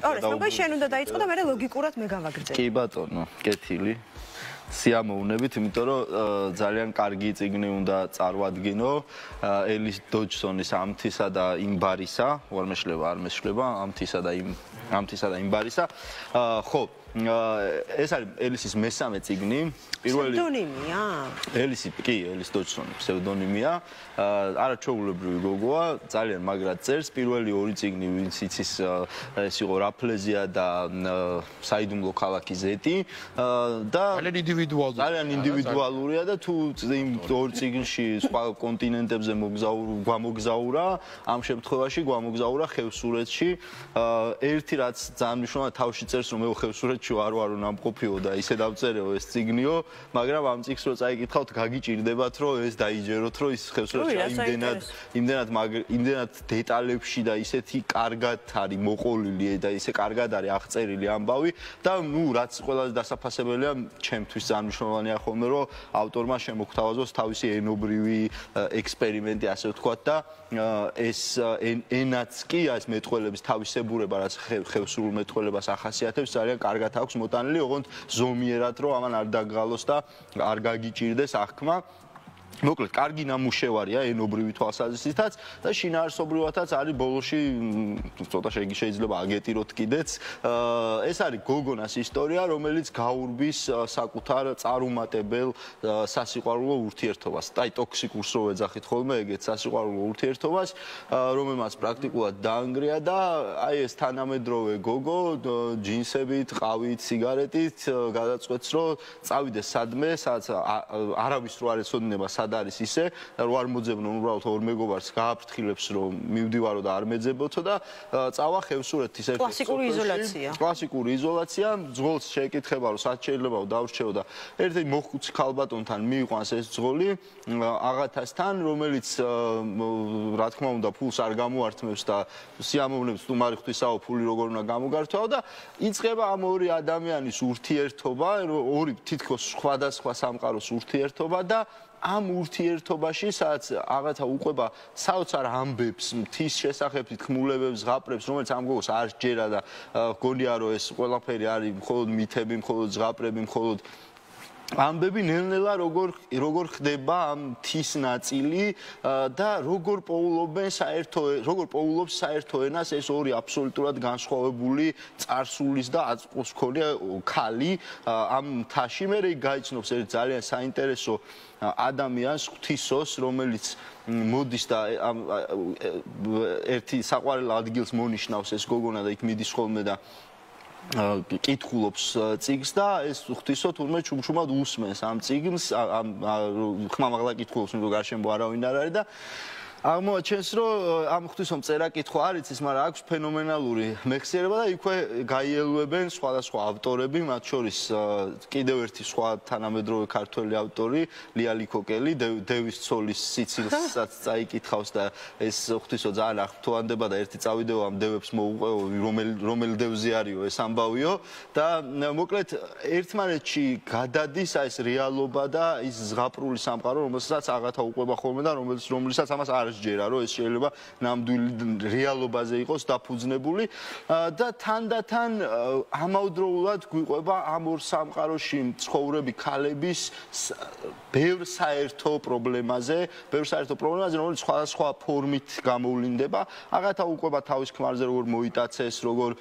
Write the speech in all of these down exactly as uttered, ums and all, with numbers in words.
ორეს როგორ შენ უნდა დაიწყო და მე ლოგიკურად მე გავაგრძელე. კი ბატონო, კეთილი. სიამოვნებით, იმიტომ რომ ძალიან კარგი წიგნი უნდა წარვადგინო ელის დოჯსონის ამთისა და იმბარისა, არ მეშლება, არ მეშლება, ამთისა და იმ ამთისა და იმბარისა. ხო, ეს არის ელისის მესამე წიგნი. პირველი ფსევდონიმია? ელისი, კი, ელის დოჯსონი ფსევდონიმია. არაჩვეულებრივი გოგოა, ძალიან მაგრად წერს. პირველი ორი წიგნი, ვინც იცის, ეს იყო რაფლეზია და საიდუმლო ქალაქი ზეტი და ძალიან ინდივიდუალურია. ძალიან ინდივიდუალურია და თუ იმ ორ წიგნში სხვა კონტინენტებზე გვამოგზაურა, ამ შემთხვევაში გვამოგზაურა ხევსურეთში. ერთი რაც ძალიან მნიშვნელოვანია, თავში წერს, რომ მე ხევსურეთში არ ვარო ნამყოფიო და ისე დავწერეო ეს წიგნიო, მაგრამ ამ წიგნს რო წაიკითხავთ, გაგიჭირდებათ, რომ ეს დაიჯეროთ, რომ ის ხევსურეთში იმდენად იმდენად იმდენად დეტალებში და ისეთი კარგად არის მოყოლილი და ისე კარგად არის აღწერილი ამბავი და ნუ რაც ყველაზე დასაფასებელია ჩემთვის ძალიან მნიშვნელოვანია ხოლმე რომ ავტორმა შემოგთავაზოს თავისი ენობრივი ექსპერიმენტი ასე ვთქვათ და ეს ენაც კი ეს მეტყველების თავისებურება რაც ხევსურულ მეტყველებას ახასიათებს ძალიან კარგად აქვს მოტანილი ოღონდ ზომიერად რომ ამან არ დაგღალოს და არ გაგიჭირდეს აღქმა მოკლედ, კარგი ნამუშევარია ენობრივი თვალსაზრისითაც და შინაარსობრივათაც არის ბოლოში ცოტა შეიძლება აგეტიროთ კიდეც. ეს არის გოგონას ისტორია, რომელიც გაურბის საკუთარ წარუმატებელ სასიყვარულო ურთიერთობას. აი, ტოქსიკურს რო ეძახით ხოლმე, ეგეთ სასიყვარულო ურთიერთობას, რომელმაც პრაქტიკულად დაანგრია და აი ეს თანამედროვე გოგო ჯინსებით, ყავით, სიგარეტით გადაწყვეტს, რომ წავიდეს სადმე, სადაც არავის რო არ ეცოდინება არის ისე რომ არ მოძებნონ უბრალოდ ორ მეგობარს გააფრთხილებს რომ მივდივარო და არ მეძებოთო და წავა ხევსურეთის ერთ კლასიკური იზოლაცია კლასიკური იზოლაცია ძღოლს შეეკითხება რომ სად შეიძლება დავრჩეო და ერთი მოხუცი ქალბატონთან მიიყვანს ეს ძღოლი აღათასთან რომელიც რა თქმა უნდა ფულს არ გამოართმევს და სიამოვნებს თუ მარი ღვთისაო ფული როგორ უნდა გამოგართვაო და იწყება ამ ორი ადამიანის ურთიერთობა ორი თითქოს სხვადასხვა სამყაროს ურთიერთობა და ამ ურთიერთობაში, სადაც აღათა უყვება საოცარ ამბებს, მთის შესახებ თქმულებებს, ზღაპრებს, რომელიც ამ გოგოს არ სჯერა და გონია რომ ეს ყველაფერი არის მხოლოდ მითები, მხოლოდ ზღაპრები, მხოლოდ ამბები ნელ-ნელა როგორ როგორ ხდება ამ მთის ნაწილი და როგორ პოულობენ საერთო როგორ პოულობს საერთო ენას ეს ორი აბსოლუტურად განსხვავებული წარსულის და აწმყოს მქონე ქალი ამ მთაში მე გაიცნობს ერთ ძალიან საინტერესო ადამიანს ღვთისოს რომელიც მოდის და ერთი საყვარელ ადგილს მონიშნავს ეს გოგონა და იქ მიდის ხოლმე და კითხულობს წიგნს და ეს ღვთისო თურმე ჩუმჩუმად უსმენს ამ წიგნს ამ ხმამაღლა კითხულობს რომ გარშემო არავინ არ არის და აღმოაჩენს რომ ამ ღვთისომ წერა კითხვა არ იცის, მაგრამ აქვს ფენომენალური მეხსიერება და იქვე გაიელვებენ სხვადასხვა ავტორები, მათ შორის კიდევ ერთი სხვა თანამედროვე ქართველი ავტორი, ლია ლიქოკელი, დევის ცოლის სიცილსაც წაიკითხავს და ეს ღვთისო ძალიან აღფრთოვანდება და ერთი წავიდეო ამ დევებს მოუყვეო, რომელი რომელი დევზე არისო ეს ამბავიო და მოკლედ ერთმანეთში გადადის ეს რეალობა და ის ზღაპრული სამყარო, რომელსაც აღათა უყვება ხოლმე და რომელიც რომლისაც ამას არ სჯერა რომ ეს შეიძლება ნამდვილი რეალობაზე იყოს დაფუძნებული და თანდათან ამავდროულად გვიყვება ამ ორ სამყაროში მცხოვრები ქალების ბევრ საერთო პრობლემაზე, ბევრ საერთო პრობლემაზე, რომელიც სხვადასხვა ფორმით გამოვლინდება. აღათა უყვება თავის ქმარზე როგორ მოიტაცეს, როგორ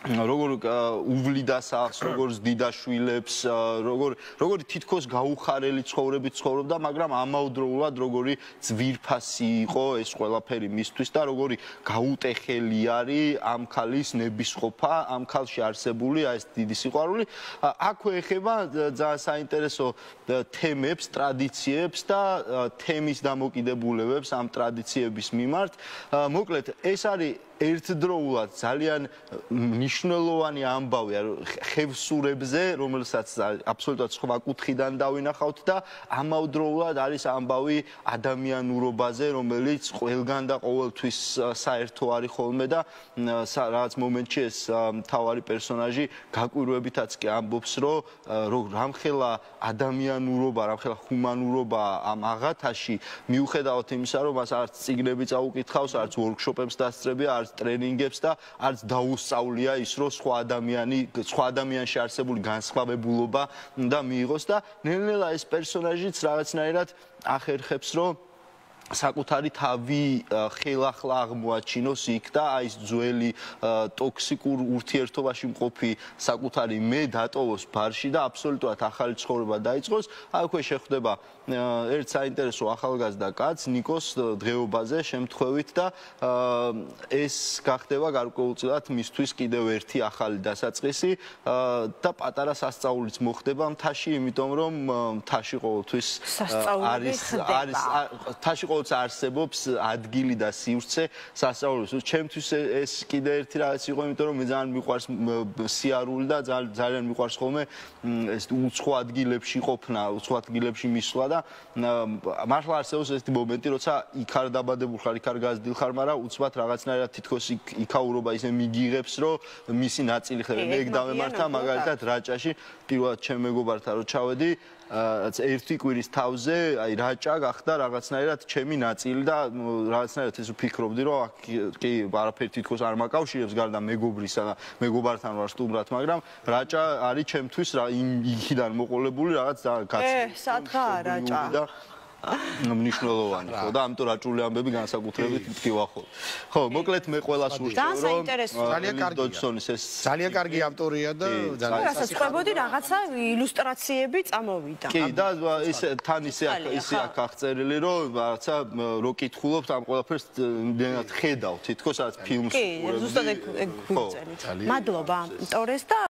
როგორ უვლიდა სახს, როგორ ზდიდა შვილებს, როგორ როგორი თითქოს გაუხარელი ცხოვრებით ცხოვრობდა, მაგრამ ამავდროულად როგორი ძვირფასი იყო ეს ყველაფერი მისთვის და როგორი გაუტეხელი არის ამ ქალის ნებისყოფა, ამ ქალში არსებული ეს დიდი სიყვარული. აქვე ეხება ძალიან საინტერესო თემებს, ტრადიციებს და თემის დამოკიდებულებებს ამ ტრადიციების მიმართ. მოკლედ, ეს არის ერთდროულად ძალიან მნიშვნელოვანი ამბავია ხევსურებზე, რომელსაც აბსოლუტურად სხვა კუთხიდან დავინახავთ და ამავდროულად არის ამბავი ადამიანურობაზე, რომელიც ყველგან და ყოველთვის საერთო არის ხოლმე და რაღაც მომენტში ეს მთავარი პერსონაჟი გაკვირვებითაც კი ამბობს, რომ რამხელა ადამიანურობა, რამხელა ჰუმანურობა ამ აღათაში მიუხედავად იმისა, რომ მას არც წიგნები წაუკითხავს, არც ვორქშოპებს დასწრებია, არც არც ტრენინგებს და არც დაუსწავლია ის, რომ სხვა ადამიანი, სხვა ადამიანში არსებული განსხვავებულობა და მიიღოს და ნელ-ნელა ეს პერსონაჟიც რაღაცნაირად ახერხებს, რომ საკუთარი თავი ხელახლა აღმოაჩინოს იქ და აი ეს ძველი ტოქსიკურ ურთიერთობაში მყოფი საკუთარი მე დატოვოს ბარში და აბსოლუტურად ახალი ცხოვრება დაიწყოს. აქვე შეხვდება ერთ საინტერესო ახალგაზრდა კაცს ნიკოს დღეობაზე შემთხვევით და ეს გახდება გარკვეულწილად მისთვის კიდევ ერთი ახალი დასაწყისი და პატარა სასწაულიც მოხდება მთაში, იმიტომ რომ მთაში ყოველთვის არის არის მთაში ყოველთვის არსებობს ადგილი და სივრცე სასწაულის. ჩემთვის ეს კიდე ერთი რაღაც იყო, იმიტომ რომ მე ძალიან მიყვარს სიარული და ძალიან მიყვარს ხოლმე ეს უცხო ადგილებში ყოფნა, უცხო ადგილებში მისვლა და მართლა არსებობს ეს მომენტი, როცა იქ არ დაბადებულ ხარ, იქ არ გაზრდილ ხარ, მაგრამ უცბად რაღაცნაირად თითქოს იქაურობა ისე მიგიღებს, რომ მისი ნაწილი ხდება. მე ეგ დავემართა მაგალითად რაჭაში, პირველად ჩემ მეგობართან რო ჩავედი, რაც ერთი კვირის თავზე, აი რაჭა გახდა რაღაცნაირად ჩემი ნაწილი და რაღაცნაირად ეს ვფიქრობდი, რომ კი არაფერი თითქოს არ მაკავშირებს გარდა მეგობრისა და მეგობართან ვარ სტუმრად, მაგრამ რაჭა არის ჩემთვის იქიდან მოყოლებული რაღაც გაცნობა. ე, სადღაა რაჭა? მნიშვნელოვანი ხო და ამიტომ რაჭული ამბები განსაკუთრებით მткиვა ხო. ხო, მოკლედ მე ყველას ურჩევ რომ ძალიან კარგია. ძალიან კარგი ავტორია და ძალიან რასაც ყვებოდი რაღაცა ილუსტრაციები წამოვიდა. კი და ისე თან ისე ისე აქ აღწერილი რომ რაღაცა რო კითხულობთ ამ ყველაფერს იმდენად ხედავ თითქოს რაც ფილმს კი, ზუსტად ეგ ეგ გვიწევით. მადლობა ტორეს და